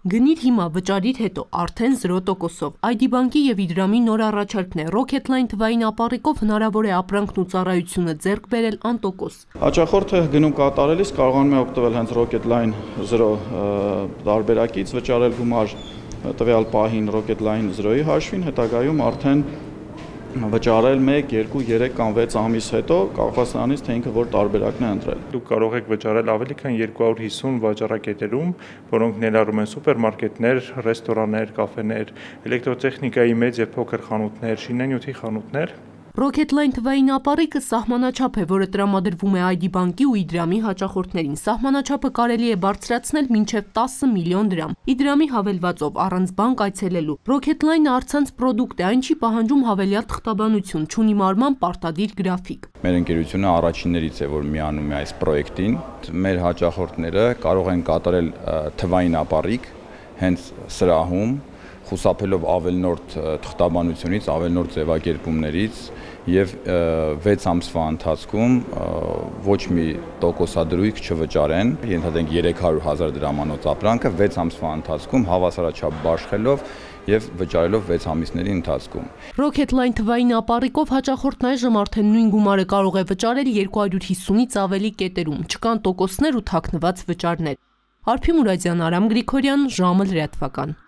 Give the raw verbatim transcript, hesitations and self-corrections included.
Գնիր հիմա, վճարիր հետո, արդեն զրո տոկոսով։ Այ դի բանկի և Իդրամի նոր առաջարկն է։ Rocketline թվային ապառիկով հնարավոր է ապրանքն ու ծառայությունը ձեռք բերել անտոկոս։ Հաճախորդը գնում կատարելիս կարողանում է օգտվել հենց Rocketline զրո տարբերակից, վճարել գումար տվյալ պահին Rocketline զրոյի հաշվին, հետագայում արդեն վճարել մեկ, երկու, երեք կամ վեց ամիս հետո, կախված նրանից, թե ինքը որ տարբերակն է ընտրել։ Դուք կարող եք վճարել ավելի քան երկու հարյուր հիսուն վաճառակետերում, որոնք ներառում են սուպերմարկետներ, ռեստորաններ, կաֆեներ, էլեկտրոտեխնիկայի մեծ և փոքր խանութներ, շինանյութի խանութներ։ Rocketline թվային ապառիկը սահմանաչափ է, որը տրամադրվում է Այ Դի բանկի ու Իդրամի հաճախորդներին։ Սահմանաչափը կարելի է բարձրացնել մինչև տասը միլիոն դրամ։ Իդրամի հավելվածով առանց բանկ այցելելու։ Rocketline-ը առցանց պրոդուկտ է, այն չի պահանջում հավելյալ թղթաբանություն, չունի մարման պարտադիր գրաֆիկ։ Մեր ընկերությունը առաջիններից է, որ միանում է այս պրոյեկտին։ Մեր հաճախորդները կարող են կատարել թվային ապառիկ հենց սրահում, խուսափելով ավելնորդ թղթաբանությունից, ավելնորդ ձևակերպումներից և վեց ամսվա ընթացքում ոչ մի տոկոսադրույք չվճարեն, ենթադրենք երեք հարյուր հազար դրամանոց ապրանքը վեց ամսվա ընթացքում հավասարաչափ բաշխելով և վճարելով վեց ամիսների ընթացքում։ Rocketline թվային ապառիկով հաճախորդն այժմ արդեն նույն գումարը կարող է վճարել երկու հարյուր հիսունից ավելի կետերում, չկան տոկոսներ ու թաքնված վճարներ։ Արփի Մուրադյան, Արամ Գրիգորյան, ժամը լրատվական։